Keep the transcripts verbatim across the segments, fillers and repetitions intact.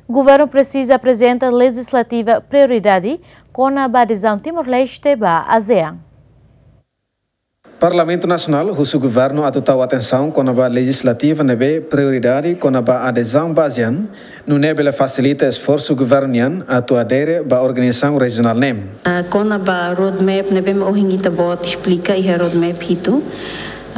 Governu presiza aprezenta lejislativa prioridade kona-ba adezaun Timor-Leste ba ASEAN. Parlamentu Nasionál husu governu atu tau atensaun kona-ba lejislativa ne'ebé prioridade kona-ba adezaun ba ASEAN, nune'e bele fasilita esforsu governu nian atu adere ba organizasaun rejionál ne'e. Ah, kona-ba roadmap ne'ebé mak ohin ita-boot esplika iha roadmap hitu.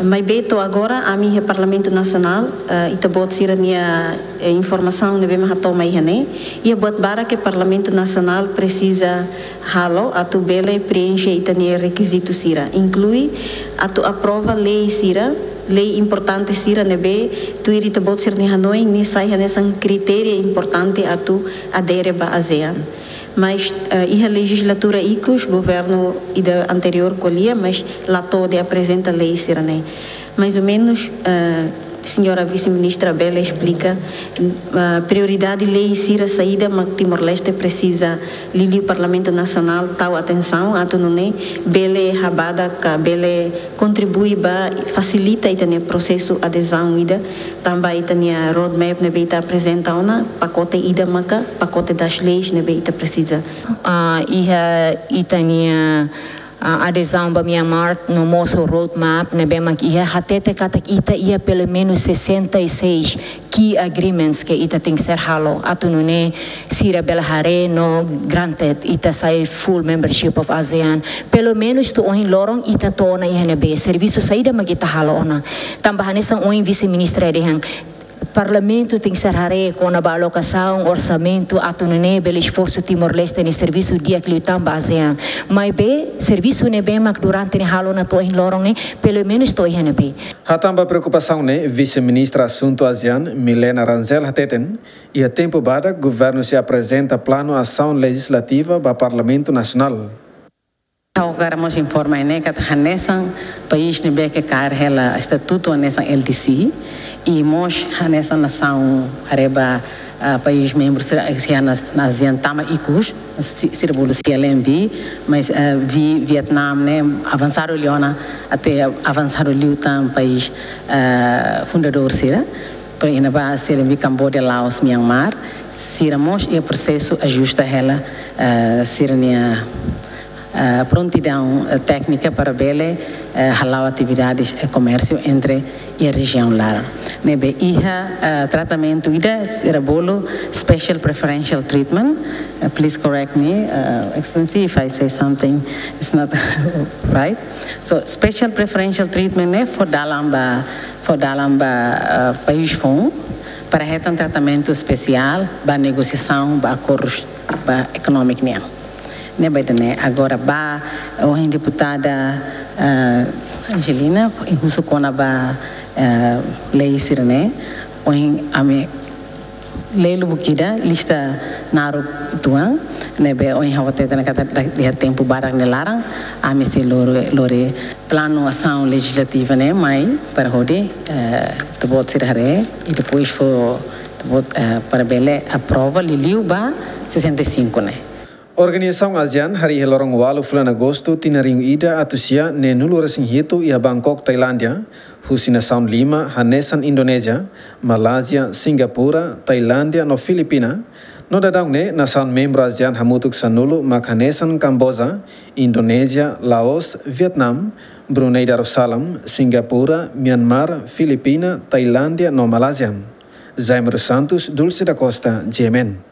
Maibé to'o agora, ami iha Parlamentu Nasionál, ah, ita-boot sira-nia, eh, informasaun ne'ebé mak hato'o mai iha ne'e, iha buat barak ke Parlamentu Nasionál presiza halo atu bele preenxe ita-nia rekizitu sira, inklui atu aprova lei sira, lei importante sira ne'ebé tuir ita-boot sira-nia hanoin ne'e sai hanesan kritéria importante atu adere ba ASEAN. Mas, eh, iha lejizlatura ikus, governu ida anteriór ko'alia, mas la to'o de aprezenta lei sira-ne'e. Mais ou menus, eh, señora vise-ministra bele esplika, ah, prioridade lei sira saida mak Timor-Leste presiza, liuliu Parlamentu Nasionál tau atensaun atu nune'e bele habadak ka bele kontribui ba fasilita ita-nia prosesu adezaun ida, tanba ita-nia roadmap ne'ebé ita aprezenta ona, pakote ida maka pakote das leis ne'ebé ita presiza. Ah, iha ita-nia, ah, adezaun ba Myanmar no mós roadmap ne'ebé mak iha, hatete katak ita iha pelumenus sessenta e seis key agreements ke ita tenke ser halo atu nune'e sira bele haree no granted ita sai full membership of ASEAN. Pelumenus to'o ohin loron ita to'o ona iha ne'ebé, servisu saida mak ita halo ona. Tanba hanesan ohin vise-ministra dehan, Parlamentu tenke ser haree kona-ba alokasaun orsamentu atu nune'e bele esforsu Timor-Leste nia servisu di'ak liután ba ASEAN. Maibé servisu ne'ebé mak durante ne'e halo ona to'o ohin loron ne'e, pelumenus to'o iha ne'ebé. Hatán ba preokupasaun ne'e, Vise-Ministra Asuntu ASEAN, Milena Rangel hateten, iha tempu badak governu sei aprezenta planu asaun lejislativa ba Parlamentu Nasionál. Ha'u hakarak mós informa ne'e katak hanesan país ne'ebé ke kaer hela estatutu hanesan L D C, i mós hanesan nasaun haree ba, ah, país membru sira, sira na, na ASEAN tama ikus, si-, sira bolu C L M V, mas, ah, Vi-, Vietnam ne'e avansadu liu ona, até avansadu liután país, ah, fundadór sira, por iha ne'ebá C L M V, Cambodia, Laos, Myanmar, sira mós iha prosesu ajusta hela, ah, sira-nia, ah, prontidaun, ah, téknika para bele, eh, hala'o atividades, eh, komérsiu entre iha rejiaun laran. Ne'ebé iha, eh, tratamentu ida sira bolu special preferential treatment. Eh, please correct me, eh, Excellency, if I say something is not right. So, special preferential treatment ne'e fó dalan ba, fó dalan ba, eh, país foun para hetan tratamentu espesiál ba negosiasaun, ba akordus, ba ekonómiku nian. Ne'ebé ida-ne'e agora ba, ohin deputada, eh, Angelina, husu kona-ba, eh, lei sira-ne'e, ohin ami lee lubuk ida, lista naruk uitoan, ne'ebé ohin ha'u hatete ona katak iha tempu badak nia laran, ami sei lori, lori planu asaun lejislativa ne'e mai para hodi, eh, ita-boot sira haree, i depois fó ita-boot, eh, para bele aprova liuliu ba sessenta e cinco ne'e. Organizasaun ASEAN harii iha loron ualu fulan Agostu tinan rihun ida atus sia neenulu resin hitu iha Bangkok, Tailándia, husi nasaun lima hanesan Indonézia, Malázia, Singapura, Tailándia no Filipina. No daudaun ne'e nasaun membru ASEAN hamutuk sanulu mak hanesan Kamboja, Indonézia, Laos, Vietnam, Brunei Darussalam, Singapura, Myanmar, Filipina, Tailándia no Malázia. Jaime dos Santos, Dulce da Costa, G M N.